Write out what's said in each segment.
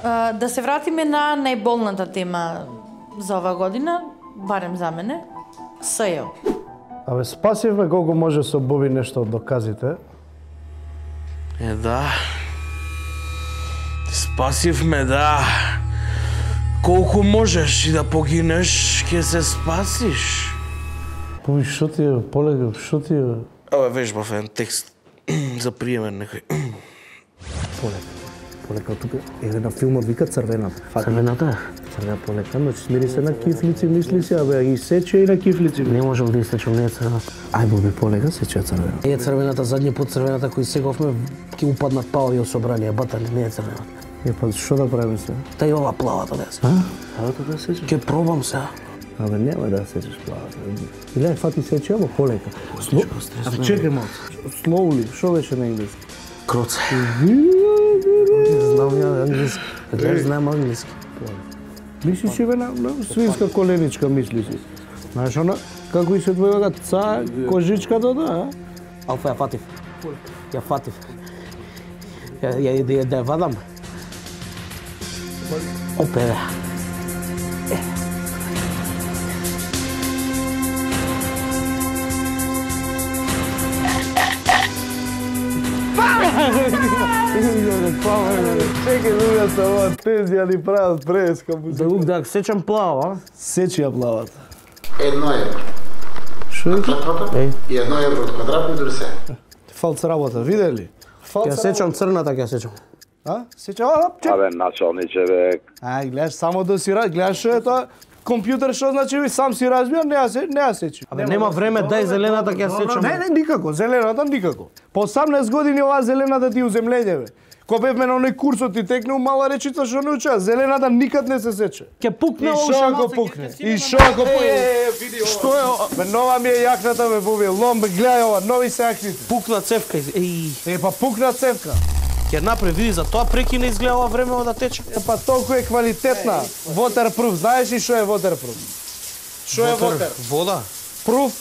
Да се вратиме на најболната тема за ова година, барем за мене, СЈО. Абе, спасивме колку може со Боби нешто од доказите. Да. Спасивме, да. Колку можеш и да погинеш, ќе се спасиш. Боби, шо ти е, полека, шо ти е? Абе, вежбав еден текст за приемен некој. Полека, тука е на филмот вика Црвената. Црвената? Црвена полека, но смири се на кифлици, мисли си, абе, ги сече и на кифлици. Не можам да истечам, не е црвената. Ај, Боби, полека, сече црвената. Не е црвената, задниот пат црвената кој сеговме, ќе му паднат паови од собрание, батали, не е црвената. Е, па, шо да правиме се? Та и ова плавата да се. Плавата да сечеш? Ќе пробам се. Абе, нема да сечеш плавата. Иле, фати сече, ама полека. Абе, чекај малку. Slowly, шо беше на енглески? Кроце. Знам ја англиски. Гледаш, знам англиски. Мислиш си бе на свинска коленичка, мислиш си. Знаеш она, како и се твојага ца, кожичката, да? Алфа, ја фатив. Ја фатив. Ја да ја вадам. Опе, бе. Чекай, луѓе се ова тези ја ни прават преска. Да сечам плава. Сечи ја плавата. 1 евро. Шо е? И 1 евро од квадратни дури се. Фалц работа, видели? Ја сечам црната, ќе сечам. А? Сеча, чек. Абе, началниче, бе. Ај, гледаш, само да си гледаш што е тоа. Компјутер што значи, ви сам си разбија, не ја сечи. Абе, нема време, дај зелената ќе сечам. Не, никако, зелената никако. По 18 години оваа зелената ти уземлење, бе. Ко бевме на оној курсот и текнеу мала речица што не уча, зелената никад не се сече. Ќе пукне И ова шо ако пукне? И шо ако пукне? Што е ова? Бе, нова ми е јакната, бе, Боби, лом, бе, гледај ова, нови се јакните. Пукна цевка. Е, па пукна цевка. Ќе направи, види, за тоа прекина изгледа ова време да тече. Е, па толку е квалитетна. Waterproof, знаеш ли што е waterproof? Што е water? Вода. Proof?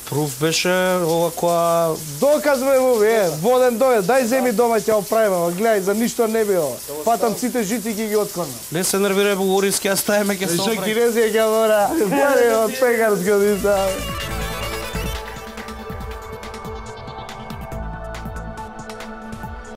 Пруф беше ова која... Доказ бе, Боби, воден довед, дај земи дома ќе оправиме, гледај, за ништо не би ова. Патам сите жици ќе ги откорна. Не се нервирај, Богорис, ќе ставиме, ќе се оправи. Шо кинези ќе мора, пари од пекарско дица.